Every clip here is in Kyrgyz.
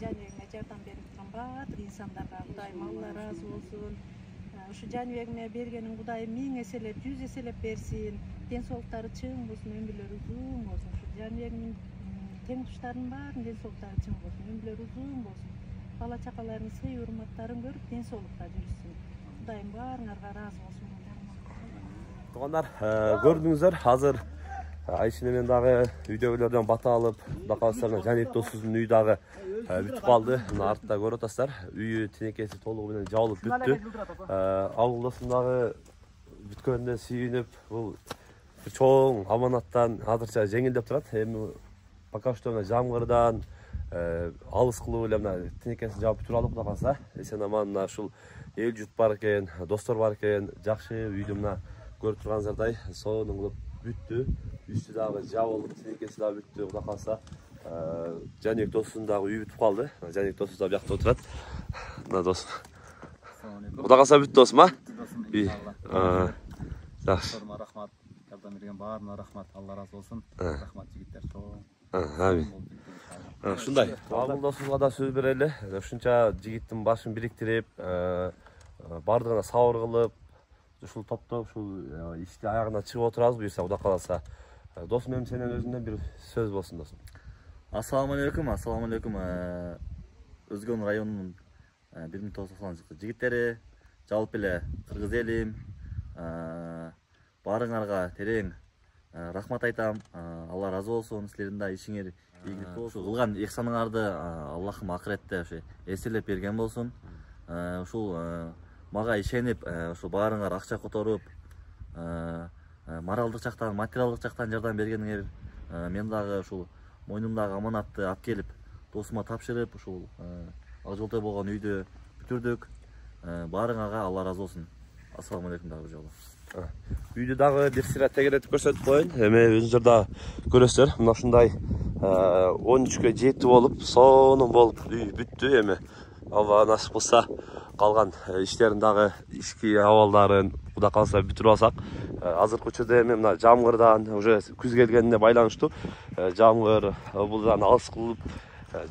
Жаныбегиме жардам берип турган баардык инсандарга Кудайым Алла ыраазы болсун. Ушу жаныбегиме бергенин Кудайым 1000 эселеп, 100 эселеп берсин. Ден соолуктары чың болсун, өмүрлөрү узун болсун. Ушу жаныбегимдин тең туштарынын баарынын ден соолуктары чың болсун, өмүрлөрү узун болсун. Бала чакаларынын сый урматтарын көрүп, ден соолукта жүрүшсүн. Кудайым баарыңарга ыраазы болсун. Туугандар, көрдүңүздөр, азыр Айшин менен дагы үйдөгүлөрдөн бата алып, Кудай кааласа Жаник досубуздун үйү дагы бүтүп калды. Мына артта көрүп атасыздар, үйү тинекеси толугу менен жабылып бүттү. Ауыл досум дагы бүткөнүнө сүйүнүп, бул чоң аманаттан азырча жеңилдеп турат. Эми пока что жамгырдан алыс кылуу эле мына тинекесин жаап бүтүрүп алдык. Кудай кааласа эсен аман мына ушул эл журт бар экен, достор бар экен, жакшы үйдү мына көрүп турганыңыздардай сонун кылып бүттү. Үстү дагы жабылып, тинекеси дагы бүттү. Кудай кааласа Жаник досунун дагы үйү бүтүп калды. Жаник досубуз да биякта отурат. Мына досум. Кудай кааласа бүттү досум, а? Жакшы. Рахмат. Жардам берген баарына рахмат. Алла ыраазы болсун. Рахмат жигиттер. Амин. Ушундай. Ауыл досубузга да сөз берели. Ушунча жигиттин башын бириктирип, бардыгына сабыр кылып, ушул топтоп ушул ишти аягына чыгып отурабыз буюрса Кудай кааласа. Досум, эми сенин өзүңдөн бир сөз болсун досум. Ассаламу алейкум, ассаламу алейкум. Өзгөн районунун 1990 жигиттери, жалпы эле кыргыз элим, баарыңарга терең рахмат айтам. Алла ыраазы болсун. Силердин да ишиңер ийгиликтүү болсун. Кылган ихсаныңарды Аллахым акыретте ошо эселеп берген болсун. Ушул мага ишенип, ушул баарыңар акча которуп, моралдык жактан, материалдык жактан жардам бергениңер, мен дагы ушул мойнумдагы аманатты алып келип, досума тапшырып, ушул ак жолтой болгон үйдү бүтүрдүк. Баарыңарга Алла ыраазы болсун. Ассаламу алейкум дагы бир жолу. Үйдү дагы бир сыйра тегеретип көрсөтүп коеюн. Эми өзүңүздөр да көрөсүздөр. Мына ушундай 13кө жети болуп, сонун болуп үй бүттү. Эми Алла насип кылса калган иштерин дагы ички абалдарын Кудай кааласа бүтүрүп алсак. Азыркы учурда эми мына жамгырдан уже күз келгенине байланыштуу жамгыр булдан алыс кылып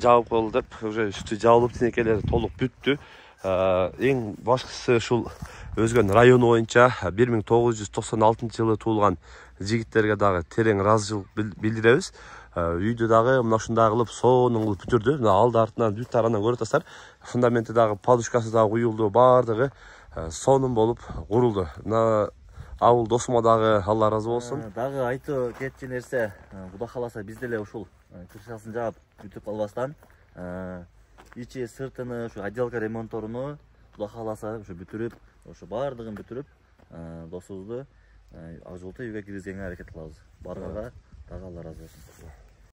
жаап кол деп уже үстү жабылып, тинекелери толук бүттү. Эң башкысы ушул Өзгөн району боюнча 1996-жылы туулган жигиттерге дагы терең ыраазычылык билдиребиз. Үйдү дагы мына ушундай кылып сонун кылып бүтүрдү. Мына алды артынан бүт тарадан көрүп атасыздар. Фундаменти дагы, подушкасы дагы куюлду, баардыгы сонун болуп курулду. Мына ауыл досума дагы Алла ыраазы болсун. Дагы айтуу кетчү нерсе, Кудай кааласа биз деле ушул крышасын жаап бүтүп калбастан, ичи сыртыны, ушу отделка ремонтторуну Кудай кааласа ушу бүтүрүп, ошо баардыгын бүтүрүп, досубузду ак жолтой үйгө киргизгенге аракет кылабыз. Баарыңарга дагы Алла ыраазы болсун.